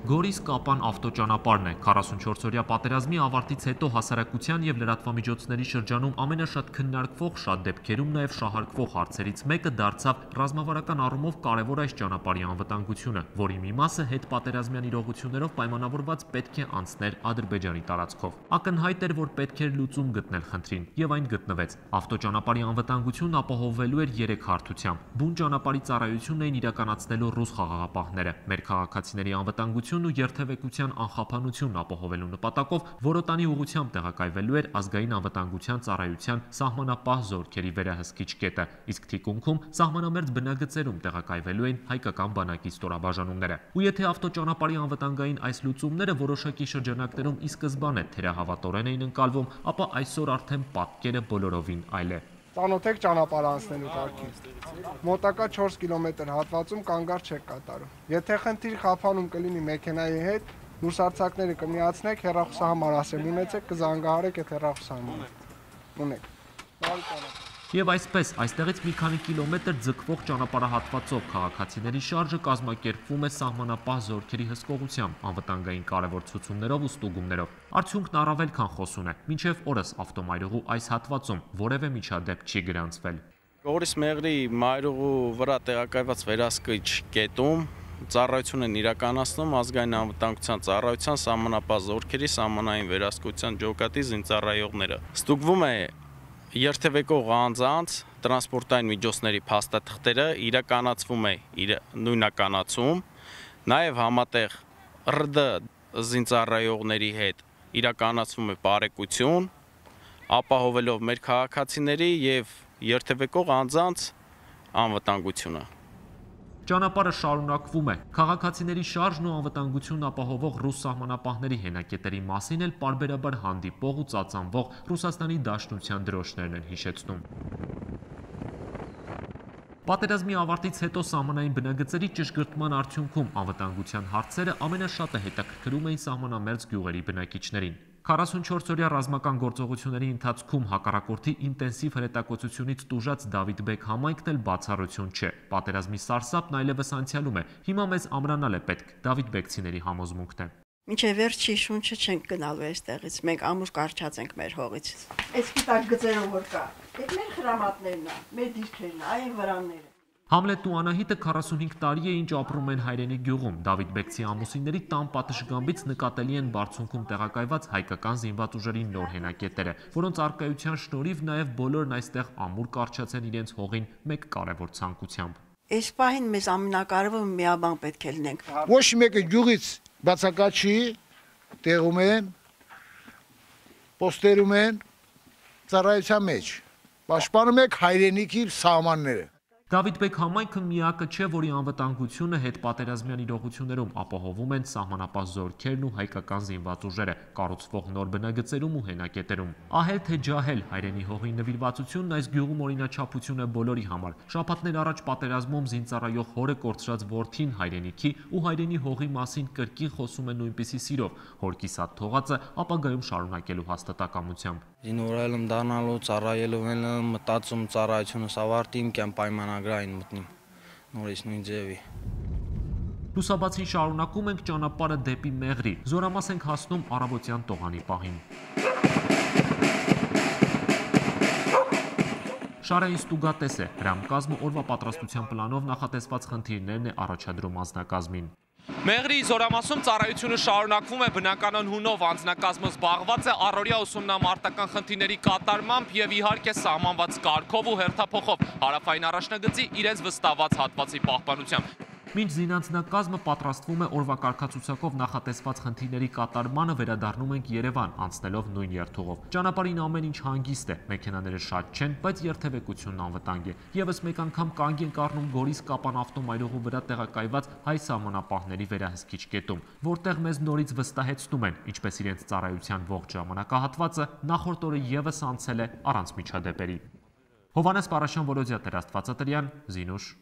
Գորիս Կապան ավտոճանապարհն է 44-օրյա պատերազմի ավարտից հետո հասարակության եւ լրատվամիջոցների շրջանում ամենաշատ քննարկվող, շատ դեպքերում նաեւ շահարկվող հարցերից մեկը դարձավ ռազմավարական առումով կարևոր այս ճանապարհի անվտանգությունը, որի մի մասը հետպատերազմյան իրողություններով պայմանավորված պետք է անցներ Ադրբեջանի տարածքով։ Ակնհայտ էր, որ պետք էր լուծում գտնել խնդրին, եւ այն գտնվեց։ Ավտոճանապարհի անվտանգությունն ապահովվելու էր 3 հարթությամբ։ Բուն ճանապարհի ծառայությունն էին իրականացնելու ռուս խաղաղապահները։ Մեր քաղաքացիների անվտանգությունն ու երթևեկության անխափանությունն ապահովելու նպատակով Որոտանի ուղղությամբ տեղակայվելու էր ազգային անվտանգության ծառայության սահմանապահ զորքերի վերահսկիչ կետը, իսկ թիկունքում սահմանամերձ բնագծերում տեղակայվելու են հայկական բանակի ստորաբաժանումները։ Ու եթե ավտոճանապարհի անվտանգային այս լուծումները որոշակի շրջանակներում ի սկզբանե թերահավատորեն էին ընկալվում, ապա այսօր արդեն պատկերը բոլորովին այլ է։ Ծանոթ եք ճանապարհ անցնելու կարգին։ Մոտակա 4 կիլոմետր հատվածում կանգառ չեք կատարում։ Եթե խնդիր խափանում կլինի մեքենայի հետ, լուսարձակները կմիացնեք, հեռախոսահամար ասել ունեցեք, կզանգահարեք այդ հեռախոսահամարը։ Ունեք։ Բարի ճանապարհ։ Եվ այսպես, այստեղից մի քանի կիլոմետր ձգվող ճանապարհահատվածով քաղաքացիների շարժը կազմակերպվում է սահմանապահ զորքերի հսկողությամբ, անվտանգային կարևոր ցուցումներով ու ստուգումներով։ Արդյունքն առավել քան խոսուն է, մինչև օրս ավտոմայրուղու այս հատվածում որևէ միջադեպ չի գրանցվել։ Գորիս Մեղրի մայրուղու վրա տեղակայված վերահսկիչ կետում ծառայություն են իրականացնում ազգային անվտանգության ծառայության սահմանապահ զորքերի սահմանային վերահսկողության ջոկատի զինծառայողները։ Ստուգվում է երթևեկող անձանց տրանսպորտային միջոցների փաստաթղթերը, իրականացվում է նույնականացում, նաև համատեղ ՌԴ զինծառայողների հետ իրականացվում է բարեկություն, ապահովելով մեր քաղաքացիների եւ երթևեկող անձանց անվտանգությունը։ Ճանապարհը շարունակվում է։ Քաղաքացիների շարժն ու անվտանգությունն ապահովող ռուս սահմանապահների հենակետերի մասին էլ պարբերաբար հանդիպող ու ծածանվող Ռուսաստանի Դաշնության դրոշներն են հիշեցնում։ Պատերազմի ավարտից հետո սահմանային բնագծերի ճշգրտման արդյունքում անվտանգության հարցերը ամենաշատը հետաքրքրում էին սահմանամերձ գյուղերի բնակիչներին։ 44-օրյա ռազմական գործողությունների ընթացքում հակառակորդի ինտենսիվ հրետակոծությունից տուժած Դավիթ-բեգ համայնքն էլ բացառություն չէ։ Պատերազմի սարսափն այլևս անցյալում է։ Հիմա մեզ ամրանալ է պետք, Դավիթ-բեգցիների համոզմունքն է։ Մինչև վերջի շունչը չենք գնալու այստեղից, մենք ամուր կարճած ենք մեր հողից։ Այս գիտակ գծերով որ կա, այդ մեր խրամատներն է, մեր դիրքերն է, այն վրանները։ Համլետ ու Անահիտը 45 տարի է ինչ ապրում են հայրենի գյուղում։ Դավիթ-բեգցի ամուսինների տան պատշգամբից նկատելի են բարձունքում տեղակայված հայկական զինված ուժերի նոր հենակետերը, որոնց առկայության շնորհիվ նաև բոլորն այստեղ ամուր կարճած են իրենց հողին մեկ կարևոր ցանկությամբ։ Այս պահին մեզ ամենակարևորը միաբան պետք է լինենք։ Ոչ մեկը գյուղից բացակայ չի, տեղում են, պոստերում են, ծառայության մեջ, պաշտպանում եք հայրենիքի սահմանները։ Դավիթ-բեգ համայնքը միակը չէ, որի անվտանգությունը հետպատերազմյան իրողություններում ապահովում են սահմանապահ զորքերն ու հայկական զինված ուժերը, կառուցվող նոր բնագծերում ու հենակետերում։ Ահել թե ջահել, հայրենի հողի նվիրվածությունն այս գյուղում օրինաչափություն է բոլորի համար։ Շաբաթներ առաջ պատերազմում զինծառայող հորը կորցրած որդին հայրենիքի ու հայրենի հողի մասին կրկին խոսում է նույնպիսի սիրով, հոր կիսատ թողածը ապագայում շարունակելու հաստատակամությամբ։ Զինվորայելում դառնալու ծառայելու եմ մտածում ծառայությունս ավարտիմ կամ պայմանագրային մտնիմ նորից նույն ձևի։ Լուսաբացին շարունակում ենք ճանապարհը դեպի Մեղրի, զորամաս ենք հասնում առավոտյան տողանի պահին։ Շարային ստուգատես է, հրամկազմը օրվա պատրաստության պլանով նախատեսված խնդիրներն է առաջադրում անձնակազմին։ Մեղրի զորամասում ծառայությունը շարունակվում է, բնականon հունով անձնակազմը զբաղված է առօրյա ուսումնամարտական խնդիրների կատարմամբ եւ իհարկե սահմանված կարգով ու հերթափոխով հարավային առաջնագծի իրենց վստահված հատվածի պահպանությամբ։ Մինչ զինանձնակազմը պատրաստվում է օրվա կարգացուցակով նախատեսված խնդիրների կատարմանը, վերադառնում ենք Երևան, անցնելով նույն երթուղով։ Ճանապարհին ամեն ինչ հանգիստ է, մեքենաները շատ չեն, բայց երթևեկությունն անվտանգ է։ Եվս մեկ անգամ կանգ ենք առնում Գորիս Կապան ավտոմայրուղու վրա տեղակայված հայ սահմանապահների վերահսկիչ կետում, որտեղ մեզ նորից վստահեցնում են, ինչպես իրենց ծառայության ողջ ժամանակահատվածը նախորդ օրը եւս անցել է առանց միջադեպերի։ Հովհաննես Պարաշյան, Որոդյա Տեր-Աստվածատրյան, Զինուշ։